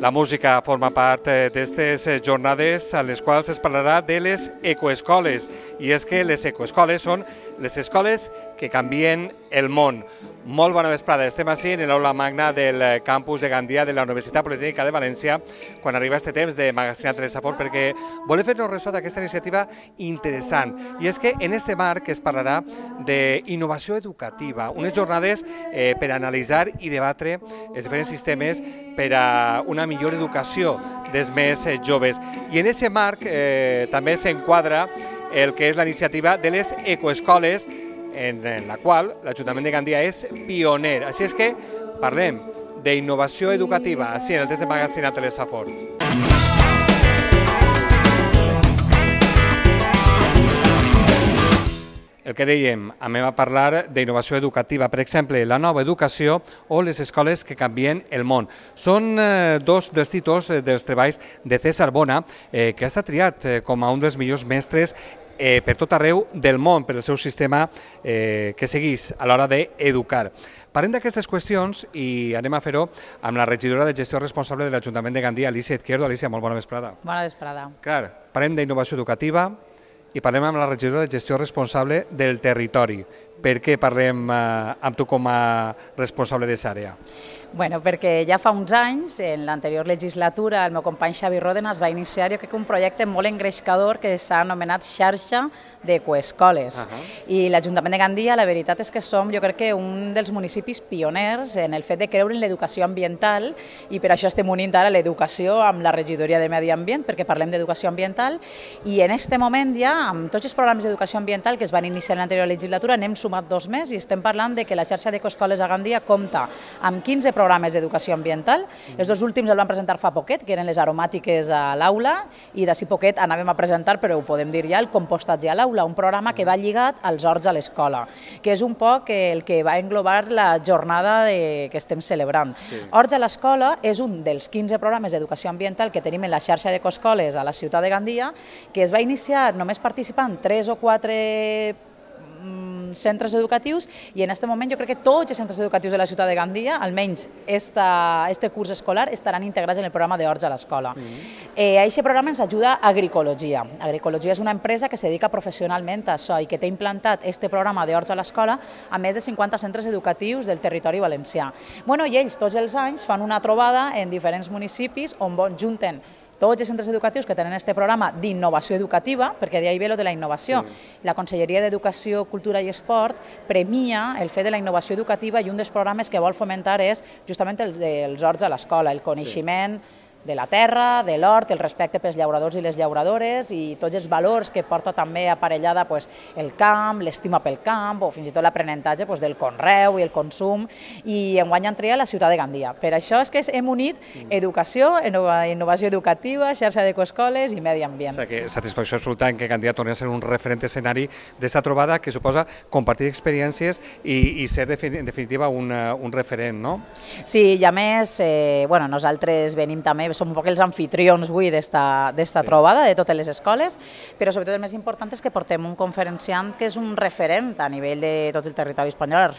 La música forma part d'aquestes jornades a les quals es parlarà de les ecoescoles. I és que les ecoescoles són les escoles que canvien el món. Molt bona vesprada, estem així en l'aula magna del campus de Gandia de la Universitat Politècnica de València quan arriba este temps de Magazine Telesafort perquè volem fer-nos ressò d'aquesta iniciativa interessant. I és que en este marc es parlarà d'innovació educativa, unes jornades per analitzar i debatre els diferents sistemes per a una millor educació dels més joves. I en aquest marc també s'enquadra el que és la iniciativa de les ecoescoles, en la qual l'Ajuntament de Gandia és pioner. Així és que parlem d'innovació educativa, així en el test de Magazine Telesafort. El que dèiem, anem a parlar d'innovació educativa, per exemple, la nova educació o les escoles que canvien el món. Són dos dels títols dels treballs de César Bona, que ha estat triat com a un dels millors mestres per tot arreu del món, per el seu sistema que segueix a l'hora d'educar. Parlem d'aquestes qüestions i anem a fer-ho amb la regidora de gestió responsable de l'Ajuntament de Gandia, Alicia Izquierdo. Alicia, molt bona vesprada. Bona vesprada. Clar, parlem d'innovació educativa i parlem amb la regidora de gestió responsable del territori. Per què parlem amb tu com a responsable d'aquesta àrea? Bueno, perquè ja fa uns anys, en l'anterior legislatura, el meu company Xavi Ròdenas va iniciar, jo crec, un projecte molt engrescador que s'ha anomenat xarxa d'ecoescoles. I l'Ajuntament de Gandia, la veritat és que som, jo crec que un dels municipis pioners en el fet de creure en l'educació ambiental i per això estem unint ara l'educació amb la regidoria de Medi Ambient, perquè parlem d'educació ambiental i en aquest moment ja, amb tots els programes d'educació ambiental que es van iniciar en l'anterior legislatura, n'hem sumat 2 més i estem parlant de que la xarxa d'ecoescoles a Gandia compta amb 15 programes d'educació ambiental. Els 2 últims els van presentar fa poquet, que eren les aromàtiques a l'aula, i d'ací poquet anàvem a presentar, però ho podem dir ja, el compostatge a l'aula, un programa que va lligat als horts a l'escola, que és un poc el que va englobar la jornada que estem celebrant. Horts a l'escola és un dels 15 programes d'educació ambiental que tenim en la xarxa d'ecoescoles a la ciutat de Gandia, que es va iniciar només participant 3 o 4 centres educatius i en aquest moment jo crec que tots els centres educatius de la ciutat de Gandia, almenys este curs escolar, estaran integrats en el programa d'Horts a l'escola. A aquest programa ens ajuda Agricologia. Agricologia és una empresa que se dedica professionalment a això i que té implantat este programa d'Horts a l'escola a més de 50 centres educatius del territori valencià. I ells tots els anys fan una trobada en diferents municipis on junten tots els centres educatius que tenen aquest programa d'innovació educativa, perquè d'ahí ve lo de la innovació. La Conselleria d'Educació, Cultura i Esport premia el fet de la innovació educativa i un dels programes que vol fomentar és justament els horts a l'escola, el coneixement de la terra, de l'hort, el respecte pels llauradors i les llauradores i tots els valors que porta també aparellada el camp, l'estima pel camp o fins i tot l'aprenentatge del conreu i el consum i enguany han triat la ciutat de Gandia. Per això és que hem unit educació, innovació educativa, xarxa d'ecoescoles i medi ambient. O sigui que satisfacció absoluta en que Gandia torni a ser un referent escenari d'esta trobada que suposa compartir experiències i ser en definitiva un referent, no? Sí, i a més, nosaltres venim també, som un poc els anfitrions avui d'esta trobada de totes les escoles, però sobretot el més important és que portem un conferenciant que és un referent a nivell de tot el territori espanyol,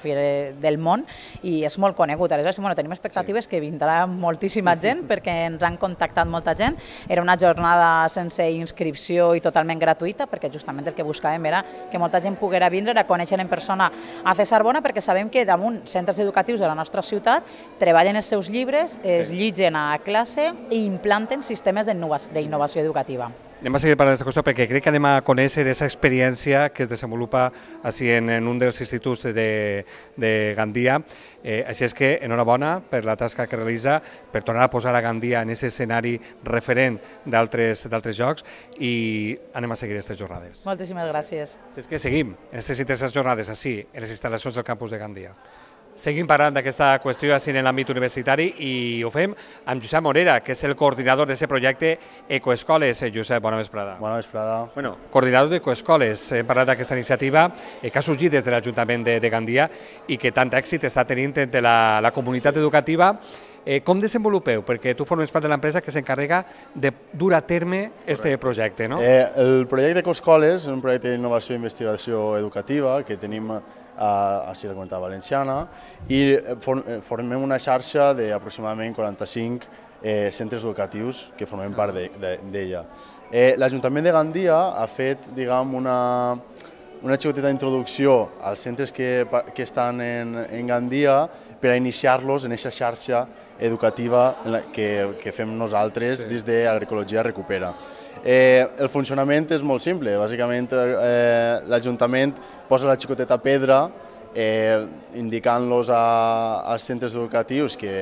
del món, i és molt conegut. Aleshores, tenim expectatives que vindrà moltíssima gent perquè ens han contactat molta gent. Era una jornada sense inscripció i totalment gratuïta perquè justament el que buscàvem era que molta gent poguera vindre a conèixer en persona a César Bona perquè sabem que damunt centres educatius de la nostra ciutat treballen els seus llibres, es llitgen a classe i implanten sistemes d'innovació educativa. Anem a seguir parlant d'aquesta qüestió perquè crec que anem a conèixer aquesta experiència que es desenvolupa en un dels instituts de Gandia. Així és que enhorabona per la tasca que realitza, per tornar a posar a Gandia en aquest escenari referent d'altres jocs i anem a seguir aquestes jornades. Moltíssimes gràcies. Així és que seguim aquestes interesants jornades així, en les instal·lacions del campus de Gandia. Seguim parlant d'aquesta qüestió així en l'àmbit universitari i ho fem amb Josep Morera, que és el coordinador d'aquest projecte Ecoescoles. Josep, bona vesprada. Bona vesprada. Coordinador d'Ecoescoles, hem parlat d'aquesta iniciativa que ha sorgit des de l'Ajuntament de Gandia i que tant èxit està tenint entre la comunitat educativa. Com desenvolupeu? Perquè tu formes part de l'empresa que s'encarrega de dur a terme aquest projecte, no? El projecte Ecoescoles és un projecte d'innovació i investigació educativa que tenim a la Comunitat Valenciana i formem una xarxa d'aproximadament 45 centres educatius que formem part d'ella. L'Ajuntament de Gandia ha fet, diguem, una xicoteta introducció als centres que estan en Gandia per a iniciar-los en aquesta xarxa educativa que fem nosaltres des d'Agroecologia Recupera. El funcionament és molt simple. Bàsicament, l'Ajuntament posa la xicoteta pedra indicant-los als centres educatius que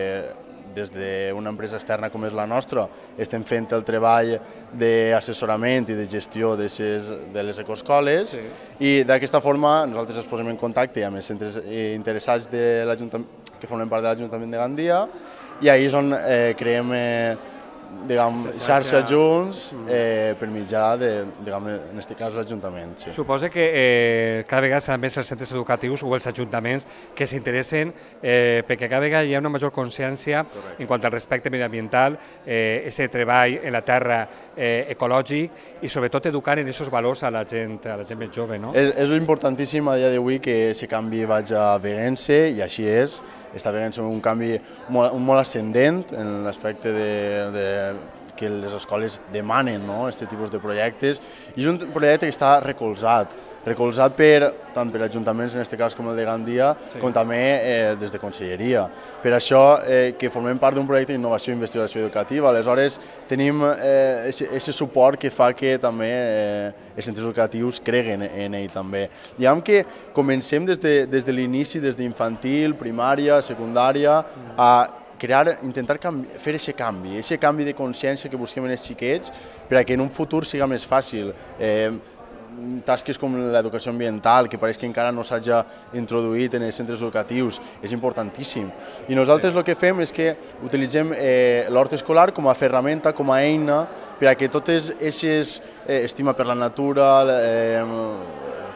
des d'una empresa externa com és la nostra estem fent el treball d'assessorament i de gestió de les ecoescoles i d'aquesta forma nosaltres ens posem en contacte amb els centres interessats que formen part de l'Ajuntament de Gandia i ahir és on creem xarxa junts per mitjà en aquest cas, l'Ajuntament. Suposo que cada vegada seran més els centres educatius o els ajuntaments que s'interessen perquè cada vegada hi ha una major consciència en quant al respecte mediambiental, aquest treball en la terra ecològic i sobretot educar en aquests valors a la gent més jove. És importantíssim a dia d'avui que aquest canvi vagi veient-se i així és. Està veient-se un canvi molt ascendent en l'aspecte que les escoles demanen aquest tipus de projectes i és un projecte que està recolzat tant per ajuntaments, en aquest cas com el de Gandia, com també des de Conselleria. Per això que formem part d'un projecte d'innovació i investigació educativa, aleshores tenim aquest suport que fa que també els centres educatius creguen en ell també. Diguem que comencem des de l'inici, des d'infantil, primària, secundària, a intentar fer aquest canvi de consciència que busquem en els xiquets perquè en un futur siga més fàcil. Tasques com l'educació ambiental, que pareix que encara no s'hagi introduït en els centres educatius, és importantíssim. I nosaltres el que fem és que utilitzem l'hort escolar com a ferramenta, com a eina, per a que totes aquestes estima per la natura,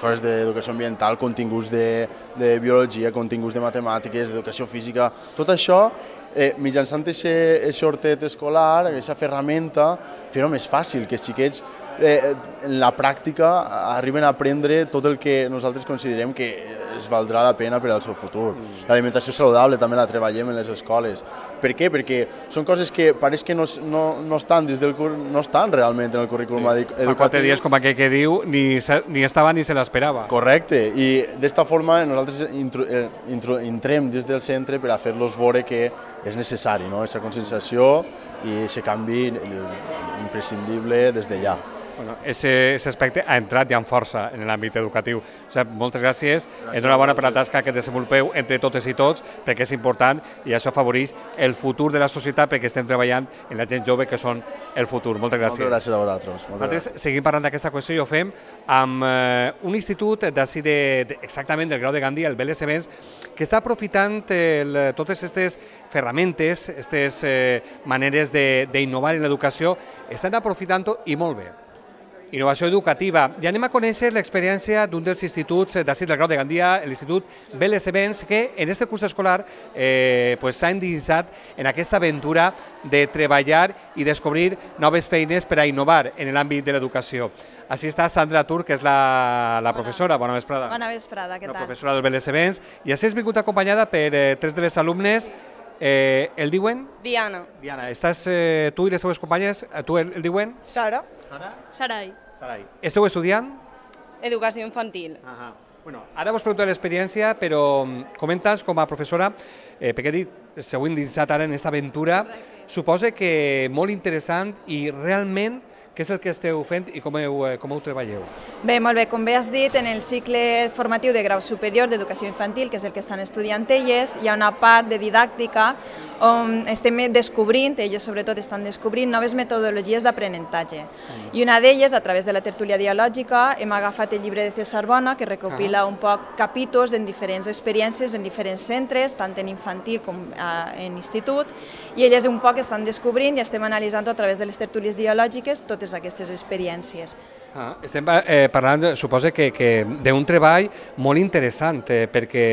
coses d'educació ambiental, continguts de biologia, continguts de matemàtiques, d'educació física, tot això mitjançant aquest hortet escolar, aquesta ferramenta, fer-ho més fàcil, que els xiquets en la pràctica arriben a aprendre tot el que nosaltres considerem que es valdrà la pena per al seu futur. L'alimentació saludable també la treballem en les escoles. Per què? Perquè són coses que pareix que no estan realment en el currículum educatiu. Fa 4 dies, com aquell que diu, ni estava ni se l'esperava. Correcte, i d'esta forma nosaltres entrem des del centre per a fer-los veure que és necessari, aquesta conscienciació i aquest canvi imprescindible des de ja. Aquest aspecte ha entrat ja amb força en l'àmbit educatiu. Moltes gràcies, enhorabona per la tasca que desenvolupeu entre totes i tots, perquè és important i això afavoreix el futur de la societat perquè estem treballant en la gent jove que són el futur. Moltes gràcies. Moltes gràcies a vosaltres. Nosaltres seguim parlant d'aquesta qüestió i ho fem amb un institut d'ací exactament del Grau de Gandia, el Vélez Events, que està aprofitant totes aquestes ferramentes, aquestes maneres d'innovar en l'educació, estan aprofitant-ho i molt bé. Innovació educativa. I anem a conèixer l'experiència d'un dels instituts d'ací del Grau de Gandia, l'Institut Vélez Events, que en aquest curs escolar s'ha endinsat en aquesta aventura de treballar i descobrir noves feines per a innovar en l'àmbit de l'educació. Així està Sandra Tur, que és la professora. Bona vesprada. Bona vesprada, què tal? La professora del Vélez Events. I així has vingut acompanyada per 3 de les alumnes. El diuen? Diana. Diana, estàs tu i les teves companyes, tu el diuen? Sara. Sara? Sarai. Sarai. Esteu estudiant? Educació infantil. Ara vos pregunto l'experiència, però comentes com a professora, perquè he dit, s'heu endinsat ara en aquesta aventura, suposa que molt interessant i realment què és el que esteu fent i com ho treballeu? Bé, molt bé, com bé has dit, en el cicle formatiu de grau superior d'educació infantil, que és el que estan estudiant elles, hi ha una part de didàctica on estem descobrint, elles sobretot estan descobrint noves metodologies d'aprenentatge. I una d'elles, a través de la tertúlia dialògica, hem agafat el llibre de César Bona, que recopila un poc capítols en diferents experiències, en diferents centres, tant en infantil com en institut, i elles un poc estan descobrint i estem analitzant a través de les tertúlies dialògiques totes aquestes experiències. Estem parlant, suposo que d'un treball molt interessant, perquè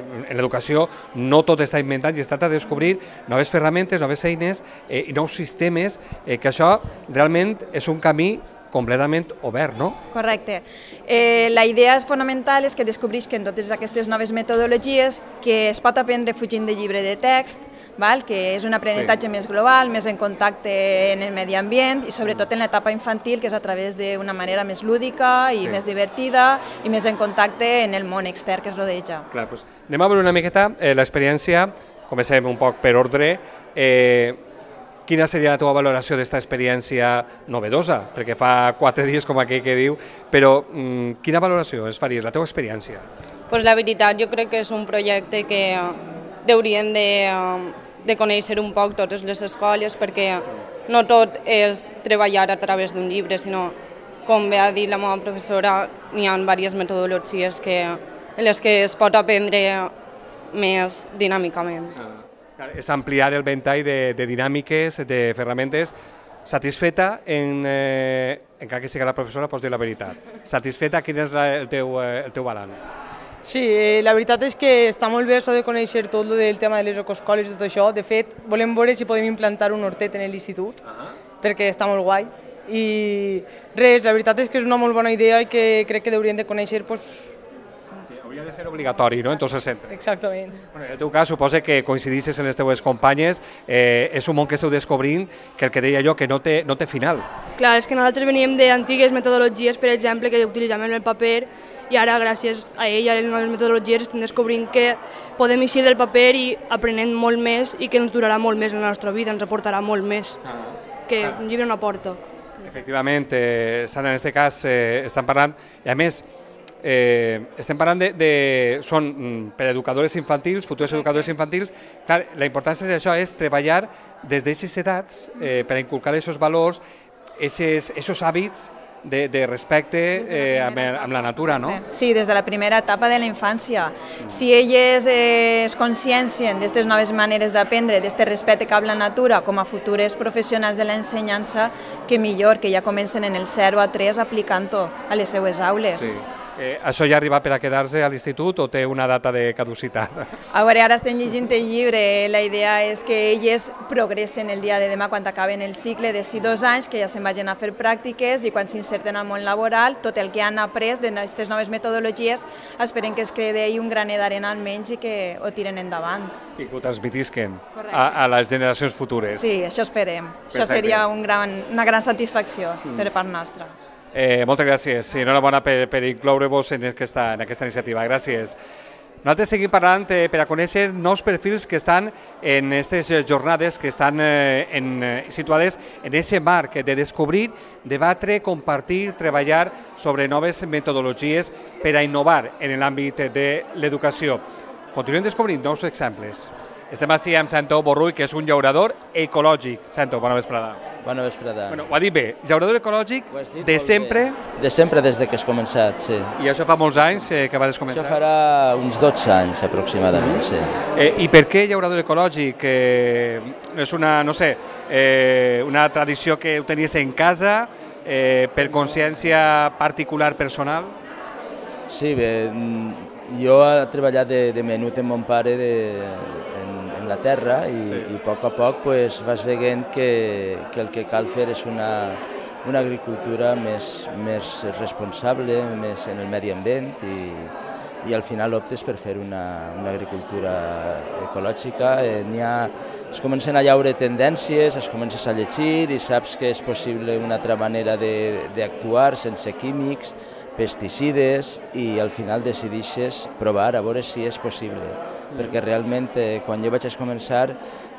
en l'educació no tot està inventat i es tracta de descobrir noves ferramentes, noves eines i nous sistemes, que això realment és un camí completament obert, no? Correcte. La idea fonamental és que descobrisquen totes aquestes noves metodologies que es pot aprendre fugint de llibre de text, que és un aprenentatge més global, més en contacte en el medi ambient i sobretot en l'etapa infantil, que és a través d'una manera més lúdica i més divertida i més en contacte en el món extern que es rodeja. Clar, doncs anem a veure una miqueta l'experiència, comencem un poc per ordre. Quina seria la teva valoració d'aquesta experiència novedosa? Perquè fa 4 dies, com aquell que diu, però quina valoració es faries, la teva experiència? Pues la veritat, jo crec que és un projecte que haurien de conèixer un poc totes les escoles, perquè no tot és treballar a través d'un llibre, sinó, com bé ha dit la meva professora, n'hi ha diverses metodologies en les que es pot aprendre més dinàmicament. És ampliar el ventall de dinàmiques, de ferramentes. Satisfeta, encara que sigui la professora, pots dir la veritat. Satisfeta, quin és el teu balanç? Sí, la veritat és que està molt bé això de conèixer tot el tema de les ecoescoles i tot això. De fet, volem veure si podem implantar un hortet en l'institut, perquè està molt guai. I res, la veritat és que és una molt bona idea i que crec que haurien de conèixer. Sí, hauria de ser obligatori, no?, en tots els centres. Exactament. En el teu cas, suposa que coincidissis en les teves companyes, és un món que esteu descobrint que el que deia jo, que no té final. Clar, és que nosaltres veníem d'antigues metodologies, per exemple, que utilitzàvem el paper, i ara, gràcies a ell i a les noves metodologies, estem descobrint que podem eixir del paper i aprenent molt més i que ens durarà molt més en la nostra vida, ens aportarà molt més que un llibre no aporta. Efectivament, Sandra, en aquest cas estan parlant, i a més, estem parlant són per educadores infantils, futurs educadors infantils. Clar, la importància d'això és treballar des d'aquestes edats per inculcar aquests valors, aquests hàbits de respecte amb la natura, no? Sí, des de la primera etapa de la infància. Si elles es consciencien d'aquestes noves maneres d'aprendre, d'aquest respecte cap a la natura, com a futures professionals de l'ensenyança, que millor, que ja comencen en el 0 a 3 aplicant-ho a les seues aules. Sí. Això ja arriba per a quedar-se a l'institut o té una data de caducitat? A veure, ara estem llegint el llibre. La idea és que elles progressen el dia de demà quan acaben el cicle de 2 anys, que ja se'n vagin a fer pràctiques i quan s'inserten al món laboral, tot el que han après d'aquestes noves metodologies esperen que es quedi un graner d'arena almenys i que ho tiren endavant. I que ho transmetisquen a les generacions futures. Sí, això esperem. Això seria una gran satisfacció per part nostra. Moltes gràcies i enhorabona per incloure-vos en aquesta iniciativa. Gràcies. Nosaltres seguim parlant per a conèixer nous perfils que estan en aquestes jornades que estan situades en aquest marc de descobrir, debatre, compartir, treballar sobre noves metodologies per a innovar en l'àmbit de l'educació. Continuem descobrint nous exemples. Estem així amb Santo Borrull, que és un llaurador ecològic. Santo, bona vesprada. Bona vesprada. Ho ha dit bé, llaurador ecològic de sempre? De sempre, des que has començat, sí. I això fa molts anys que vas començar? Això farà uns 12 anys, aproximadament, sí. I per què llaurador ecològic? És una, no sé, una tradició que ho tenies en casa, per consciència particular, personal? Sí, bé, jo he treballat de menut amb mon pare en la terra i a poc vas veient que el que cal fer és una agricultura més responsable, més en el medi ambient i al final optes per fer una agricultura ecològica. Es comencen a llaure tendències, es comences a llegir i saps que és possible una altra manera d'actuar sense químics, pesticides i al final decideixes provar a veure si és possible. Perquè realment quan jo vaig començar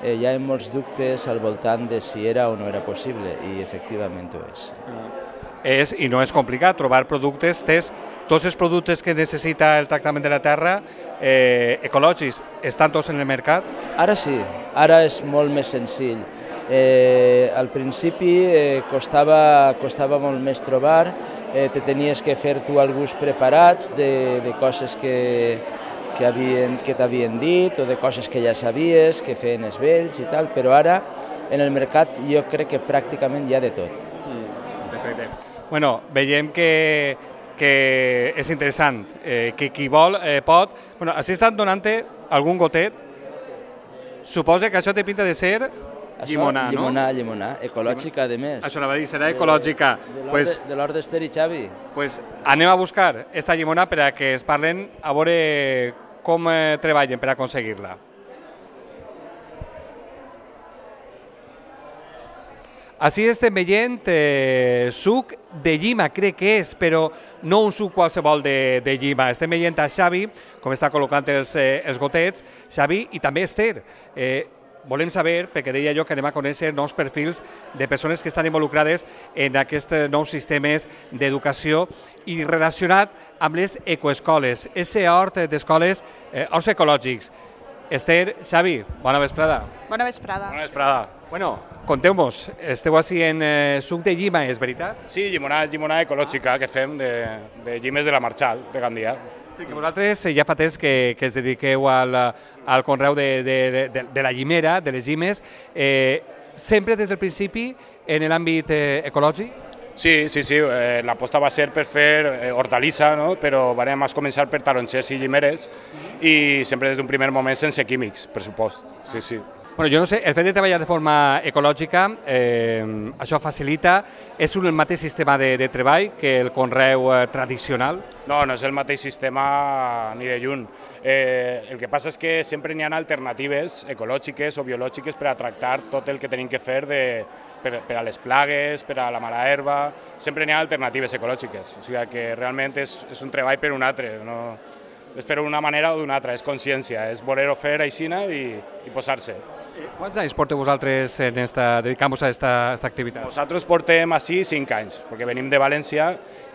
hi ha molts dubtes al voltant de si era o no era possible i efectivament ho és. I no és complicat trobar productes, tots els productes que necessita el tractament de la terra ecològics, estan tots en el mercat? Ara sí, ara és molt més senzill. Al principi costava molt més trobar, te tenies que fer tu alguns preparats de coses que t'havien dit o de coses que ja sabies, que feien els vells i tal, però ara en el mercat jo crec que pràcticament hi ha de tot. Perfecte. Bueno, veiem que és interessant, que qui vol pot... Bueno, així estan donant-te algun gotet. Suposa que això té pinta de ser llimonà, no? Llimonà, ecològica, a més. Això la va dir, serà ecològica. De l'hort d'Ester i Xavi. Doncs anem a buscar aquesta llimonà per a que es parlen, a veure com treballen per aconseguir-la. Així estem veient suc de llima, crec que és, però no un suc qualsevol de llima. Estem veient a Xavi, com està col·locant els gotets, Xavi i també Esther. Volem saber, perquè deia jo que anem a conèixer nous perfils de persones que estan involucrades en aquests nous sistemes d'educació i relacionat amb les ecoescoles, ese hort d'escoles, horts ecològics. Esther, Xavi, bona vesprada. Bona vesprada. Bona vesprada. Bueno, conteu-nos, esteu així en suc de llima, és veritat? Sí, llimonada ecològica que fem de llimes de la Marchal, de Gandia. Sí, que vosaltres ja fa temps que es dediqueu al conreu de la llimera, de les llimes, sempre des del principi en l'àmbit ecològic? Sí, l'aposta va ser per fer hortalissa, no? Però vam començar per tarongers i llimeres i sempre des d'un primer moment sense químics, per supost. Sí. Bueno, jo no sé, el fet de treballar de forma ecològica, això facilita, és el mateix sistema de treball que el conreu tradicional? No és el mateix sistema ni de lluny. El que passa és que sempre n'hi ha alternatives ecològiques o biològiques per a tractar tot el que tenim que fer per a les plagues, per a la mala herba, sempre n'hi ha alternatives ecològiques. O sigui que realment és un treball per un altre, no és fer-ho d'una manera o d'una altra, és consciència, és voler-ho fer aixina i posar-se. Quants anys porteu vosaltres dedicant-vos a aquesta activitat? Nosaltres portem així 5 anys, perquè venim de València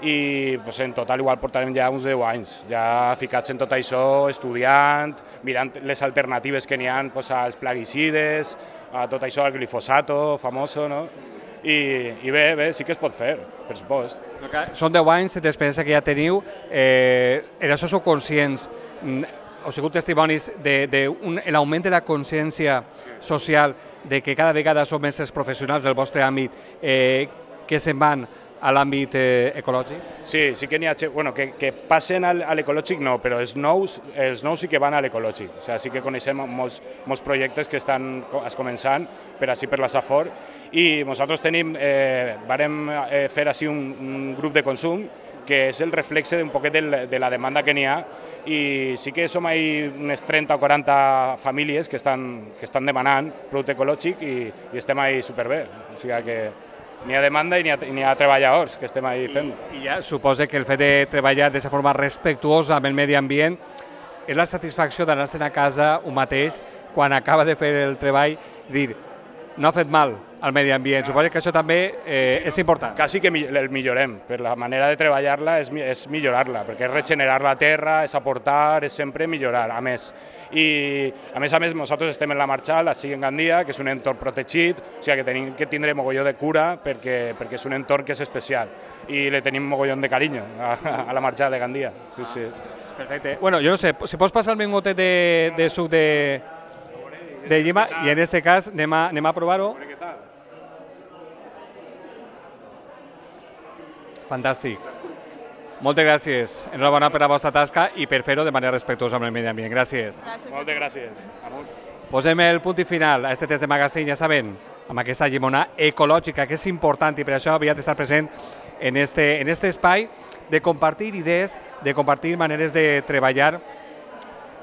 i en total igual portarem ja uns 10 anys, ja ficats en tot això, estudiant, mirant les alternatives que n'hi ha als plaguicides, a tot això, al glifosato, famoso, no? I bé, sí que es pot fer, per supost. Són 10 anys d'experiència que ja teniu, en això sou conscients, heu sigut testimonis de l'augment de la consciència social, de que cada vegada són més els professionals del vostre àmbit que se'n van a l'àmbit ecològic? Sí que n'hi ha, que passen a l'ecològic no, però els nous sí que van a l'ecològic. O sigui, sí que coneixem molts projectes que estan començant per així per la Safor i nosaltres varem fer així un grup de consum que és el reflexe d'un poquet de la demanda que n'hi ha i sí que som unes 30 o 40 famílies que estan demanant producte ecològic i estem ahí superbé. O sigui que n'hi ha demanda i n'hi ha treballadors que estem ahí fent. I ja suposa que el fet de treballar de forma respectuosa amb el medi ambient és la satisfacció d'anar-se'n a casa un mateix quan acaba de fer el treball, dir, no ha fet mal al medi ambient. Suposo que això també és important. Quasi que el millorem, per la manera de treballar-la és millorar-la, perquè és regenerar la terra, és aportar, és sempre millorar, a més. I a més, nosaltres estem en la Marchal, així en Gandia, que és un entorn protegit, o sigui que tenim que tindre mogolló de cura perquè és un entorn que és especial i le tenim mogollón de carinyo a la Marchal de Gandia. Sí. Perfecte. Bueno, jo no sé, si pots passar-me un gotet de suc de llima i en aquest cas anem a provar-ho. Fantàstic. Moltes gràcies. Enhorabona per la vostra tasca i per fer-ho de manera respectuosa amb el medi ambient. Gràcies. Moltes gràcies. Posem el punt i final a aquest test de magazine, ja saben, amb aquesta llimonada ecològica, que és important i per això havia d'estar present en este espai de compartir idees, de compartir maneres de treballar,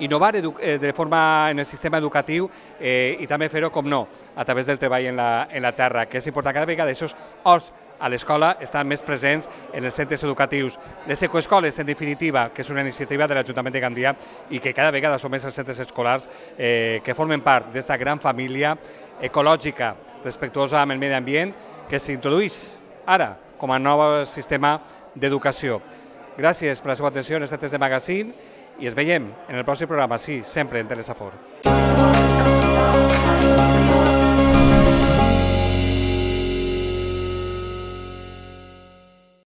innovar de forma en el sistema educatiu i també fer-ho, com no, a través del treball en la terra, que és important. Cada vegada aquests horts a l'escola estan més presents en els centres educatius. Les ecoescoles, en definitiva, que és una iniciativa de l'Ajuntament de Gandia i que cada vegada són més els centres escolars que formen part d'aquesta gran família ecològica, respectuosa amb el medi ambient, que s'introdueix ara com a nou sistema d'educació. Gràcies per la seva atenció en aquest test de magazine i ens veiem en el pròxim programa, sí, sempre en Telesafor.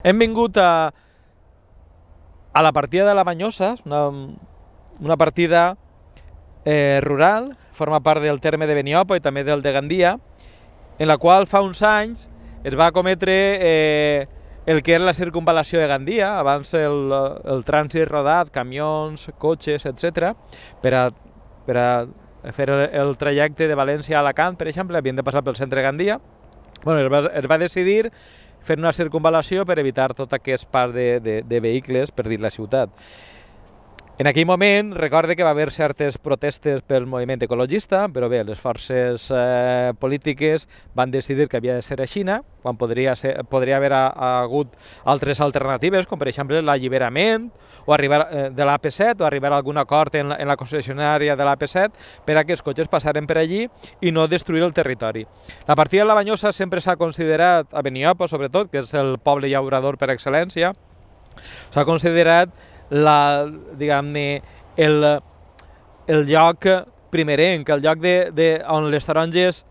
Hem vingut a la partida de la Manyosa, una partida rural, forma part del terme de Beniopa i també del de Gandia, en la qual fa uns anys es va cometre el que era la circunvalació de Gandia, abans el trànsit rodat, camions, cotxes, etc. Per a fer el trajecte de València a Alacant, per exemple, havien de passar pel centre de Gandia. Es va decidir fer una circunvalació per evitar tot aquest pas de vehicles per dins la ciutat. En aquell moment, recorde que va haver certes protestes pel moviment ecologista, però bé, les forces polítiques van decidir que havia de ser a Xina, quan podria haver hagut altres alternatives, com per exemple l'alliberament o arribar de l'AP7 o arribar a algun acord en la concessionària de l'AP7 per a que els cotxes passaren per allí i no destruir el territori. La partida de la Banyosa sempre s'ha considerat, a Beniopa sobretot, que és el poble llaurador per excel·lència, s'ha considerat diguem-ne, el lloc primerenc, el lloc on les taronges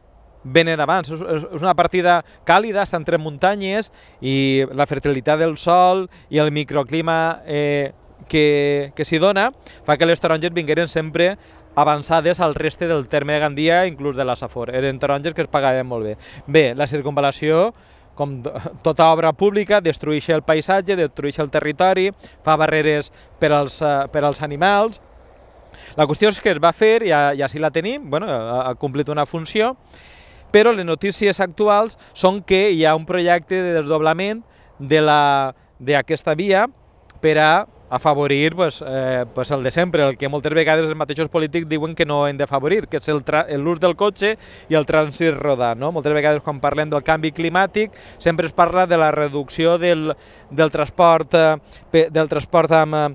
venen abans. És una partida càlida, està entre muntanyes i la fertilitat del sòl i el microclima que s'hi dona fa que les taronges vingueren sempre avançades al reste del terme de Gandia, inclús de la Safor. Eren taronges que es pagaven molt bé. Bé, la circunvalació, com tota obra pública, destrueix el paisatge, destrueix el territori, fa barreres per als animals. La qüestió és que es va fer, i així la tenim, ha complit una funció, però les notícies actuals són que hi ha un projecte de desdoblament d'aquesta via per a afavorir el de sempre, el que moltes vegades els mateixos polítics diuen que no hem d'afavorir, que és l'ús del cotxe i el trànsit rodant. Moltes vegades quan parlem del canvi climàtic sempre es parla de la reducció del transport amb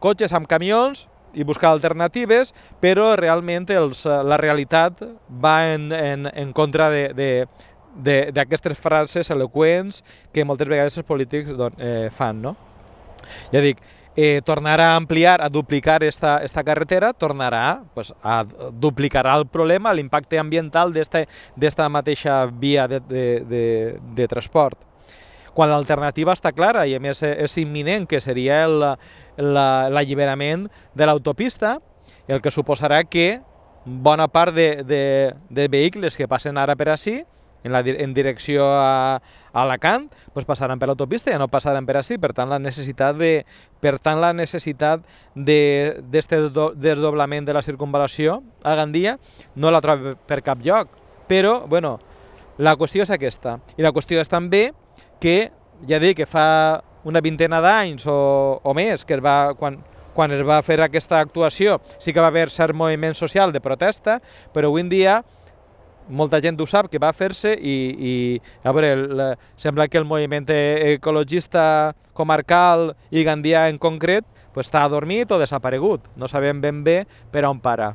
cotxes, amb camions, i buscar alternatives, però realment la realitat va en contra d'aquestes frases eloqüents que moltes vegades els polítics fan. Ja dic, tornarà a ampliar, a duplicar esta carretera, tornarà a duplicar el problema, l'impacte ambiental d'esta mateixa via de transport. Quan l'alternativa està clara i a més és imminent, que seria l'alliberament de l'autopista, el que suposarà que bona part de vehicles que passen ara per ací, en direcció a Alacant, passaran per l'autopista i ja no passaran per ací. Per tant, la necessitat d'aquest desdoblament de la circunvalació a Gandia no la trobo per cap lloc. Però, la qüestió és aquesta. I la qüestió és també que, ja dic, que fa una vintena d'anys o més, que quan es va fer aquesta actuació, sí que va haver cert moviment social de protesta, però avui en dia molta gent ho sap que va fer-se i a veure, sembla que el moviment ecologista comarcal i gandià en concret està adormit o desaparegut. No sabem ben bé per on para.